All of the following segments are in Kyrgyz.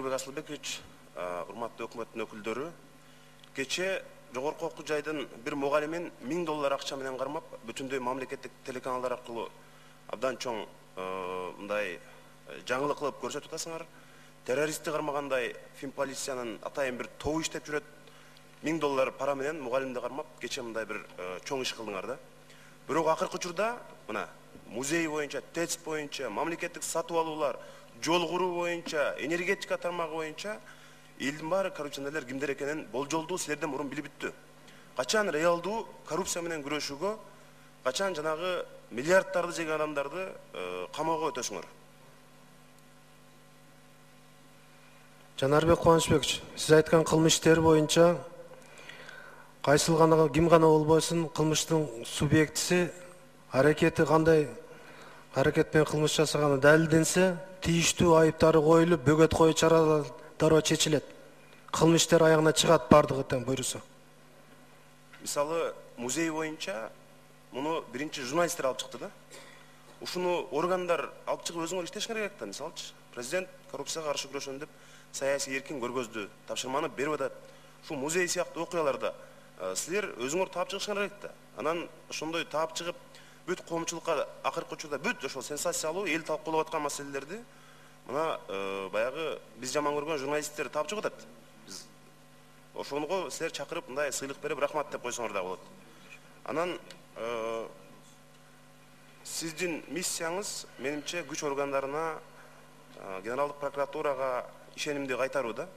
Нурбек Асылбекович, урматтуу өкмөттүн өкүлдөрү, кечээ жогорку окуу жайдын бир мугалимин $1000 акча менен кармап, бүтүндөй мамлекеттик телеканалдар аркылуу абдан чоң мындай жаңылык кылып көрсөтүп атасыңар. Террористти кармагандай Финполициянын атайын бир тобу иштеп жүрөт. $1000 пара менен мугалимди кармап, кечээ мындай бир чоң иш кылдыңар да. Бирок акыркы учурда мына музей боюнча, ТЭЦ боюнча, мамлекеттик сатып алуулар, жол куруу боюнча, энергетика тармагы боюнча элдин баары коррупционерлер кимдер экенин болжолдуу силерден мурун билип бүттү. Качан реалдуу коррупция менен күрөшүүгө, качан жанагы миллиарддарды жеген адамдарды камоого өтөсүңөр? Жанарбек Кубанычбекович, сиз айткан кылмыш иштери боюнча кайсыл гана ким гана болбосун кылмыштын субъектиси аракети кандай аракет менен кылмыш жасаганы далилденсе, тийиштүү айыптары коюлуп, бөгөт коюу чаралары дароо чечилет. Кылмыш иштери аягына чыгат бардыгы тең буйруса. Мисалы, музей боюнча муну биринчи журналисттер алып чыкты да. Ушуну органдар алып чыгып өзүңөр иштешиңер керек да. Мисалчы, президент коррупцияга каршы күрөшөм деп саясий эркин көргөздү, тапшырманы берип атат. Ушул музей сыяктуу окуяларда силер өзүңөр таап чыгышыңар керек да. Анан ошондой таап чыгып, бүт коомчулукка акыркы учурда бүт ошол сенсациялуу эл талкуулап аткан маселелерди мына баягы биз жаман көргөн журналисттер таап чыгып атат. Биз ошонго силер чакырып мындай сыйлык берип рахмат деп койсоңор да болот. Анан сиздин миссияңыз менимче күч органдарына, Генералдык прокуратурага ишенимди кайтаруу да.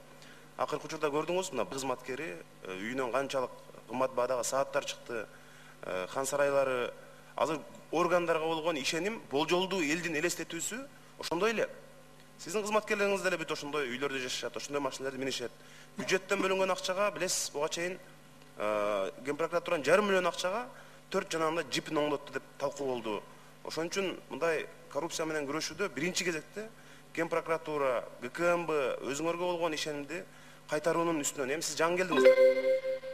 Акыркы учурда көрдүңүз, мына кызматкери үйүнөн канчалык кымбат баадагы сааттар чыкты, хан сарайлары. Азыр органдарга болгон ишеним, болжолдуу элдин элестетүүсү ошондой эле. Сиздин кызматкерлериңиз деле бүт ошондой үйлөрдө жашашат, ошондой машиналарды минишет. Бюджеттен бөлүнгөн акчага, билесиз, буга чейин Ген прокуратуранын 5,5 миллион акчага 4 жанагындай джипин оңдотту деп талкуу болду. Ошон үчүн мындай коррупция менен күрөшүүдө биринчи кезекте Ген прокуратура, ГКМБ өзүңөргө болгон ишенимди кайтаруунун үстүнөн, эми сиз жаңы келдиңиз,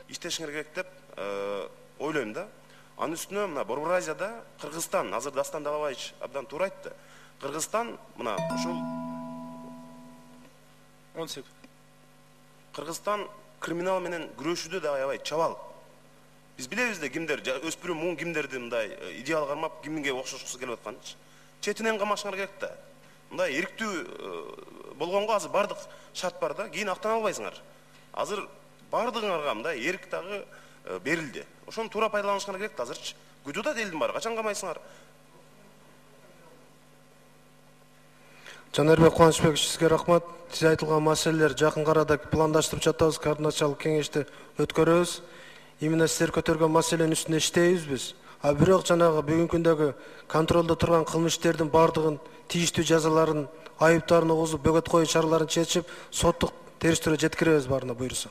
иштешиңер керек деп ойлойм да. Анын үстүнө мына Борбор Азияда Кыргызстан, азыр Дастан Далабаевич абдан туура айтты. Кыргызстан мына ушул 10 секунд. Кыргызстан криминал менен күрөшүүдө да аябай чабал. Биз билебиз да кимдер, өспүрүм муун кимдерди мындай идеал кармап, кимге окшошкусу келип атканын. Четинен камашыңар керек да. Мындай эрктүү болгонго азыр бардык шарт бар да, кийин актана албайсыңар. Азыр бардыгыңарга мындай эрк дагы берилди. Ошону туура пайдаланышыңар керек да азырчы. Күтүп атат элдин баары, качан камайсыңар? Жанарбек Кубанычбекович, сизге рахмат. Сиз айтылган маселелер жакын арада пландаштырып жатабыз, координациялык кеңешти өткөрөбүз. Именно сиздер көтөргөн маселенин үстүндө иштейбиз биз. А бирок жанагы бүгүнкү күндөгү контролдо турган кылмыш иштердин бардыгын тийиштүү жазаларын, айыптарын угузуп, бөгөт коюу чараларын чечип, соттук териштирүүгө жеткиребиз баарына буйруса.